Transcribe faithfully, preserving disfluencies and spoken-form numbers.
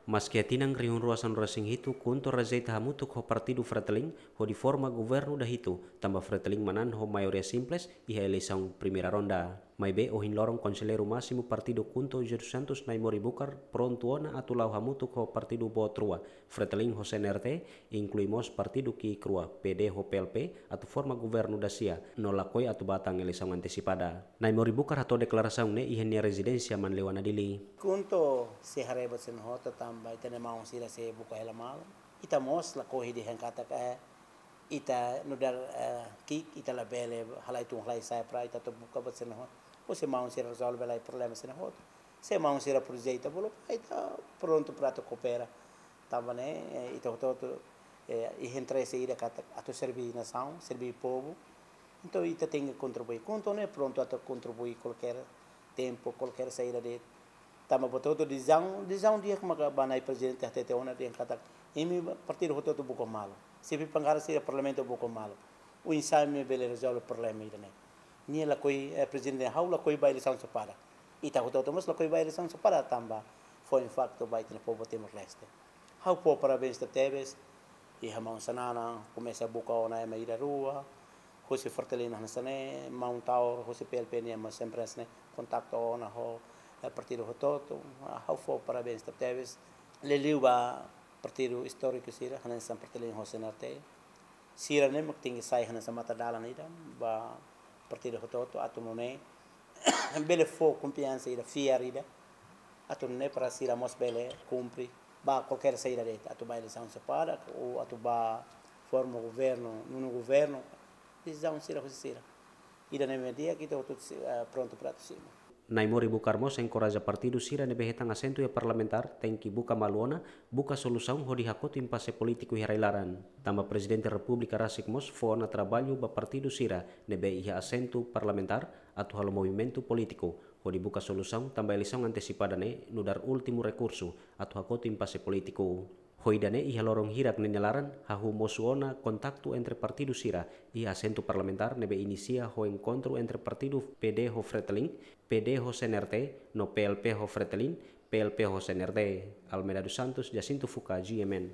Maski iha tinan rihun rua sanulu resin hitu KHUNTO rejeita hamutuk ho partidu Fretilin hodi forma governu dahitu, tanba Fretilin manán ho maioria simples iha eleisaun primeira ronda. Maibé ohin loron Konselleiru Másimu partidu KHUNTO José dos Santos Naimori Bucar prontu ona atu la'o hamutuk ho partidu boot rua, Fretilin ho C N R T, inklui mós partidu ki'ik rua, P D ho P L P, atu forma governu dasia, no lakohi atu ba tan eleisaun antesipada. Naimori Bucar hato'o deklarasaun ne'e iha nia rezidénsia Manleuana, Dili. KHUNTO sei haree buat sira hotu tanba ita-nia maun sira sei buka hela malu. Ita mós lakohi dehan katak, eh, ita nu'udar, eh, ki'ik, ita labele halai tun halai sa'e para ita atu buka buat sira hotu. Ou se maun sira rezolve lai problema sira hotu. Se maun sira projetu bolu, ita prontu para atu koopera. Tanba ne'e, eh, ita hotu-hotu, eh, iha interese ida katak atu serve nasaun, serve povu. Entaun ita tenke kontribui. KHUNTO ne'e prontu atu kontribui kualkér tempu, kualkér saida de'it. Tanba buat hotu-hotu desizaun, desizaun di'ak maka ba Na'i Prezidente hatete ona dehan katak imi partidu hotu-hotu buka malu. Xefe bankada sira iha Parlamentu buka malu. Oinsá imi bele rezolve problema ida-ne'e. Nia lakohi, eh, Prezidente, ha'u lakohi ba eleisaun sepada. Ita hotu-hotu mós lakohi ba eleisaun sepada tanba foin faktu ba ita-nia povu Timor-Leste. Ha'u fó parabéns tebetebes iha maun Xanana, komesa buka ona ema ida rua, husi Fretilin hanesan ne'e, maun Taur, husi P L P nian mós sempre hanesan ne'e, kontaktu ona ho, eh, partidu hotu-hotu. Ah, ha'u fó parabéns tebetebes. Liuliu ba partidu istóriku sira, hanesan Fretilin ho C N R T. Sira-ne'e mak tenke sai hanesan matadalan ida ba partidu hotu-hotu atu nune'e bele fó konfiansa ida, fiar ida. Atu nune'e para sira mós bele kumpre ba kualkér saida de'it, atu ba eleisaun sepada, ou atu ba forma governu, nonu governu, desizaun sira husi sira. Ida-ne'e mak di'ak, ita hotu-hotu si-, eh, prontu para atu simu. Naimori Bucar mós enkoraja partidu sira ne'ebé hetan asentu iha parlamentár tenke buka malu ona, buka solusaun hodi hakotu impase polítiku iha rai-laran. Tanba Prezidente Repúblika rasik mós fó ona traballu ba partidu sira ne'ebé iha asentu parlamentár atu halo movimentu polítiku hodi buka solusaun tanba eleisaun antesipada ne'e nu'udar últimu rekursu atu hakotu impase polítiku. Ho ida-ne'e iha loron hirak ne'e nia laran hahú mosu ona kontaktu entre partidu sira iha asentu parlamentár ne'ebé inisia ho enkontru entre partidu P D ho Fretilin, P D ho C N R T, no P L P ho Fretilin, P L P ho C N R T. Almeida dos Santos, Jacinto Fuca, G M N.